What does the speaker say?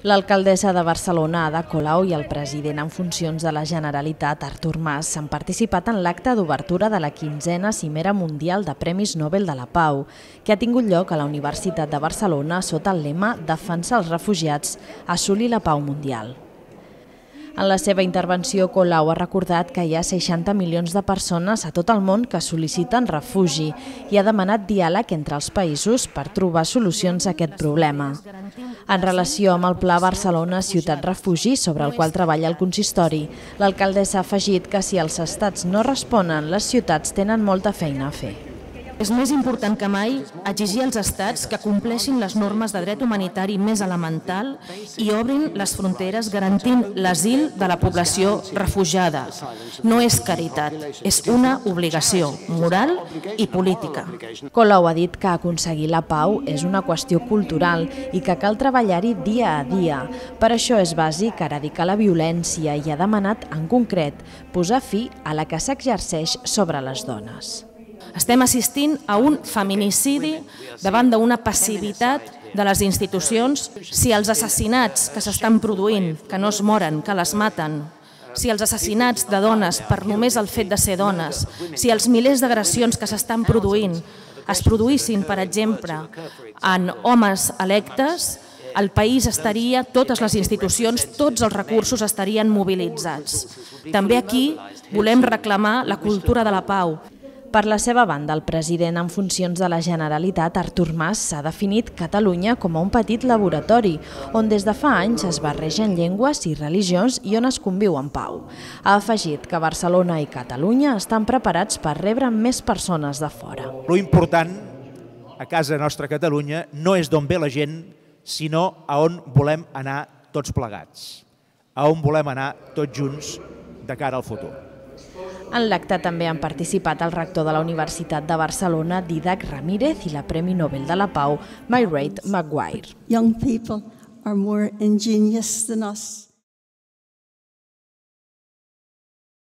L'alcaldessa de Barcelona, Ada Colau, i el president en funcions de la Generalitat, Artur Mas, han participat en l'acte d'obertura de la 15a Cimera Mundial de Premis Nobel de la Pau, que ha tingut lloc a la Universitat de Barcelona sota el lema «Defensar els refugiats, assolir la pau mundial». En la seva intervenció, Colau ha recordat que hi ha 60 milions de persones a tot el món que sol·liciten refugi i ha demanat diàleg entre els països per trobar solucions a aquest problema. En relació amb el Pla Barcelona Ciutat Refugi, sobre el qual treballa el consistori, l'alcaldessa ha afegit que si els estats no responen, les ciutats tenen molta feina a fer. És més important que mai exigir als estats que compleixin les normes de dret humanitari més elemental i obrin les fronteres garantint l'asil de la població refugiada. No és caritat, és una obligació moral i política. Colau ha dit que aconseguir la pau és una qüestió cultural i que cal treballar-hi dia a dia. Per això és bàsic erradicar la violència i ha demanat, en concret, posar fi a la que s'exerceix sobre les dones. Estem assistint a un feminicidi davant d'una passivitat de les institucions. Si els assassinats que s'estan produint, que no es moren, que les maten, si els assassinats de dones per només el fet de ser dones, si els milers d'agressions que s'estan produint es produïssin, per exemple, en homes electes, el país estaria, totes les institucions, tots els recursos estarien mobilitzats. També aquí volem reclamar la cultura de la pau. Per la seva banda, el president en funcions de la Generalitat, Artur Mas, s'ha definit Catalunya com un petit laboratori, on des de fa anys es barregen llengües i religions i on es conviu en pau. Ha afegit que Barcelona i Catalunya estan preparats per rebre més persones de fora. Lo important a casa nostra Catalunya no és d'on ve la gent, sinó a on volem anar tots plegats, a on volem anar tots junts de cara al futur. En l'acte també han participat el rector de la Universitat de Barcelona, Dídac Ramírez, i la Premi Nobel de la Pau, Mairead Maguire. Young people are more ingenious than us.